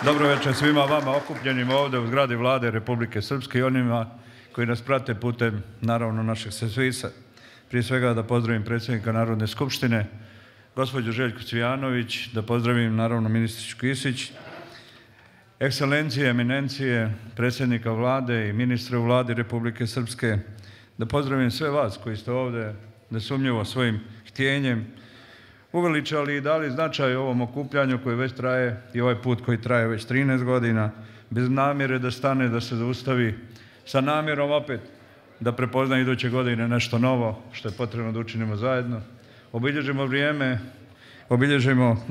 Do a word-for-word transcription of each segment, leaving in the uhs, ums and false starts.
Dobro večer svima vama okupljenim ovdje u zgradi Vlade Republike Srpske i onima koji nas prate putem, naravno, našeg servisa. Prije svega da pozdravim predsjednika Narodne skupštine, gospođu Željku Cvijanović, da pozdravim, naravno, ministričku Kisić, ekscelencije, eminencije, predsjednika Vlade i ministra u Vladi Republike Srpske, da pozdravim sve vas koji ste ovdje nesumnjivo svojim htjenjem uveličali i dali značaj ovom okupljanju koji već traje i ovaj put koji traje već trinaest godina, bez namjere da stane, da se zaustavi, sa namjerom opet da prepozna iduće godine nešto novo što je potrebno da učinimo zajedno. Obilježimo vrijeme, obilježimo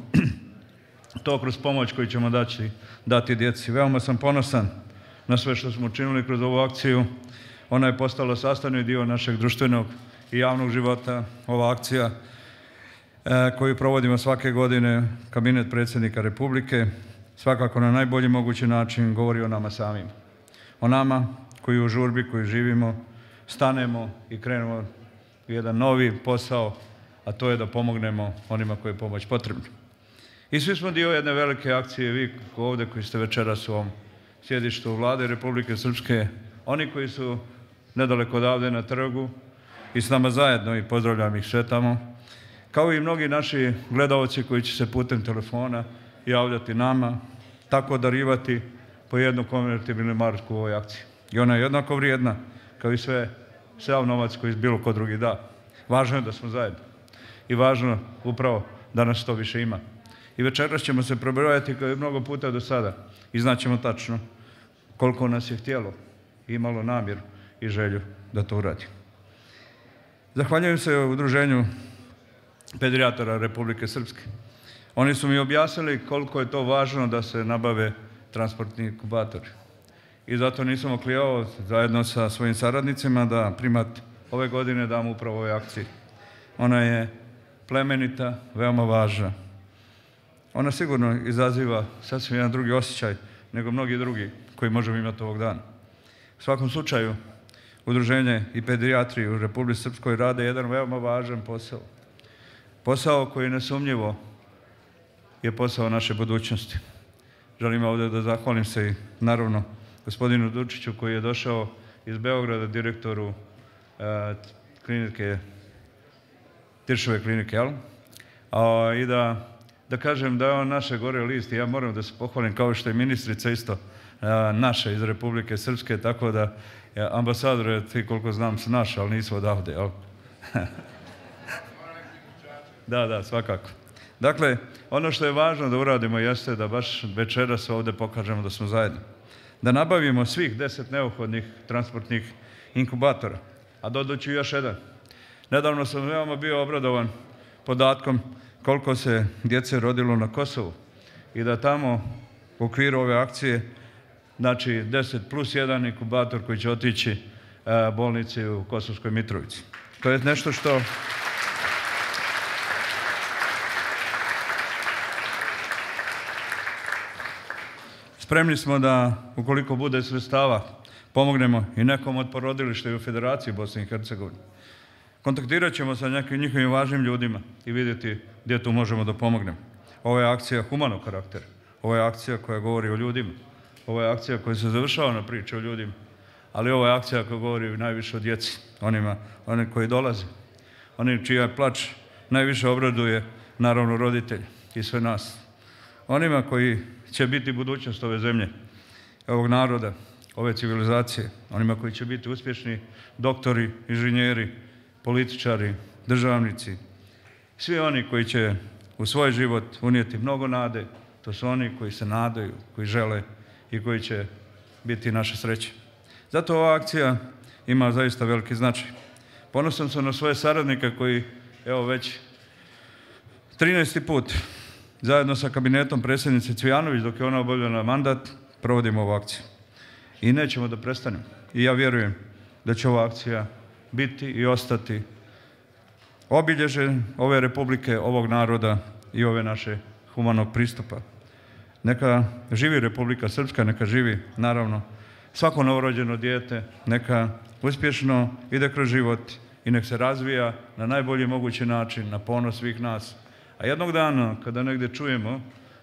to kroz pomoć koju ćemo dati, dati djeci. Veoma sam ponosan na sve što smo učinili kroz ovu akciju. Ona je postala sastavni dio našeg društvenog i javnog života. Ova akcija koju provodimo svake godine, kabinet predsjednika Republike, svakako na najbolji mogući način govori o nama samim. O nama koji u žurbi, koji živimo, stanemo i krenemo u jedan novi posao, a to je da pomognemo onima koji je pomoć potrebna. I svi smo dio jedne velike akcije, vi ovdje koji ste večeras u ovom sjedištu Vlade Republike Srpske, oni koji su nedaleko odavde na trgu i s nama zajedno i pozdravljam ih sve tamo, kao i mnogi naši gledalci koji će se putem telefona javljati nama, tako darivati po jednu konvertibilnu marku u ovoj akciji. I ona je jednako vrijedna kao i sve, sav novac koji bilo ko drugi da. Važno je da smo zajedno i važno upravo da nas to više ima. I večeras ćemo se prebrojati kao i mnogo puta do sada i znaćemo tačno koliko nas je htjelo i imalo namjeru i želju da to uradi. Zahvaljujem se Udruženju pedijatara Republike Srpske. Oni su mi objasnili koliko je to važno da se nabave transportni inkubatori. I zato nisam oklijao zajedno sa svojim saradnicima da primat ove godine dam upravo ovoj akciji. Ona je plemenita, veoma važna. Ona sigurno izaziva sasvim jedan drugi osjećaj nego mnogi drugi koji možemo imati ovog dana. U svakom slučaju, Udruženje i pedijatri u Republici Srpskoj rade jedan veoma važan posao. Posao koji nesumnjivo je posao naše budućnosti. Želim ovdje da zahvalim se i naravno gospodinu Dučiću koji je došao iz Beograda, direktoru e, klinike, Tiršove klinike, jel? A, I da, da kažem da je on naše gore list i ja moram da se pohvalim kao što je ministrica isto e, naša iz Republike Srpske, tako da e, ambasadore, ti koliko znam su naša, ali nisu odavde, jel? Da, da, svakako. Dakle, ono što je važno da uradimo jeste da baš večeras ovdje pokažemo da smo zajedno. Da nabavimo svih deset neophodnih transportnih inkubatora. A dodaću još jedan. Nedavno sam veoma bio obradovan podatkom koliko se djece rodilo na Kosovu i da tamo u okviru ove akcije, znači deset plus jedan inkubator koji će otići bolnici u Kosovskoj Mitrovici. To je nešto što... Spremni smo da, ukoliko bude sredstava, pomognemo i nekom od porodilišta i u Federaciji Bosne i Hercegovine. Kontaktirat ćemo sa nekim njihovim važnim ljudima i vidjeti gdje tu možemo da pomognemo. Ovo je akcija humanog karaktera. Ovo je akcija koja govori o ljudima. Ovo je akcija koja se završava na priče o ljudima. Ali ovo je akcija koja govori najviše o djeci, onima, oni koji dolaze. Oni čija plač najviše obraduje, naravno, roditelji i sve nas. Onima koji će biti budućnost ove zemlje, ovog naroda, ove civilizacije, onima koji će biti uspješni doktori, inženjeri, političari, državnici, svi oni koji će u svoj život unijeti mnogo nade, to su oni koji se nadaju, koji žele i koji će biti naša sreća. Zato ova akcija ima zaista veliki značaj. Ponosan sam na svoje saradnike koji, evo već trinaesti put, zajedno sa kabinetom predsjednice Cvijanović, dok je ona obavljala mandat, provodimo ovu akciju. I nećemo da prestanemo. I ja vjerujem da će ova akcija biti i ostati obilježje ove republike, ovog naroda i ove naše humanog pristupa. Neka živi Republika Srpska, neka živi, naravno, svako novorođeno dijete, neka uspješno ide kroz život i nek se razvija na najbolji mogući način, na ponos svih nas. A jednog dana, kada negdje čujemo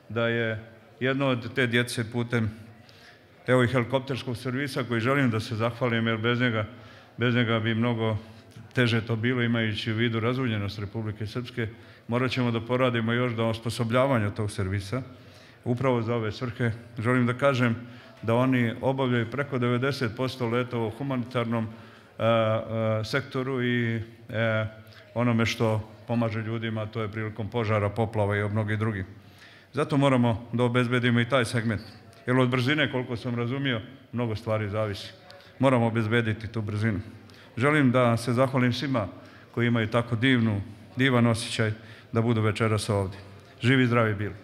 da je jedno od te djece putem evo i helikopterskog servisa koji želim da se zahvalim, jer bez njega, bez njega bi mnogo teže to bilo, imajući u vidu razuljenost Republike Srpske. Morat ćemo da poradimo još do osposobljavanja tog servisa. Upravo za ove svrhe želim da kažem da oni obavljaju preko devedeset posto letova u humanitarnom a, a, sektoru i a, onome što pomaže ljudima, to je prilikom požara, poplava i mnogi drugi. Zato moramo da obezbedimo i taj segment. Jer od brzine, koliko sam razumio, mnogo stvari zavisi. Moramo obezbediti tu brzinu. Želim da se zahvalim svima koji imaju tako divnu, divan osjećaj da budu večeras ovdje. Živi i zdravi bili.